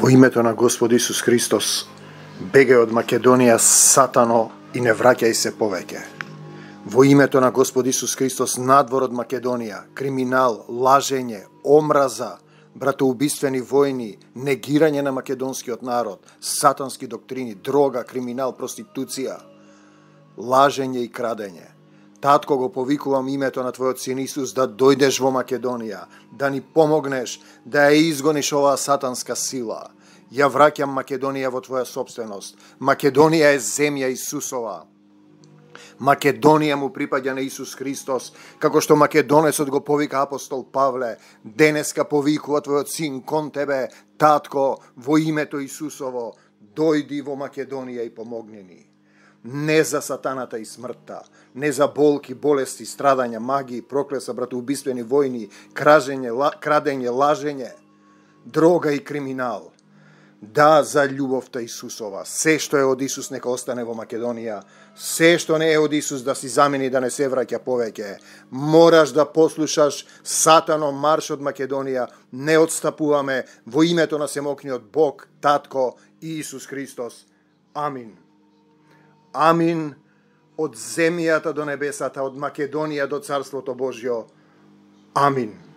Во името на Господ Исус Христос, бегај од Македонија, сатано, и не враќај се повеќе. Во името на Господ Исус Христос, надвор од Македонија, криминал, лажење, омраза, братоубиствени војни, негирање на македонскиот народ, сатански доктрини, дрога, криминал, проституција, лажење и крадење. Татко, го повикувам името на Твојот син Исус да дојдеш во Македонија, да ни помогнеш да ја изгониш оваа сатанска сила. Ја враќам Македонија во Твоја собственост. Македонија е земја Исусова. Македонија му припаѓа на Исус Христос, како што македонецот го повика апостол Павле. Денеска повикува Твојот син кон Тебе, Татко, во името Исусово, дојди во Македонија и помогни ни. Не за сатаната и смртта, не за болки, болести, страдања, магии, проклеса, братоубиствени војни, крадење, лажење, дрога и криминал. Да, за љубовта Исусова. Се што е од Исус нека остане во Македонија. Се што не е од Исус да си замени, да не се враќа повеќе. Мораш да послушаш, сатано, марш од Македонија. Не отстапуваме во името на Семокниот Бог, Татко и Исус Христос. Амин. Амин. Од земјата до небесата, од Македонија до Царството Божјо. Амин.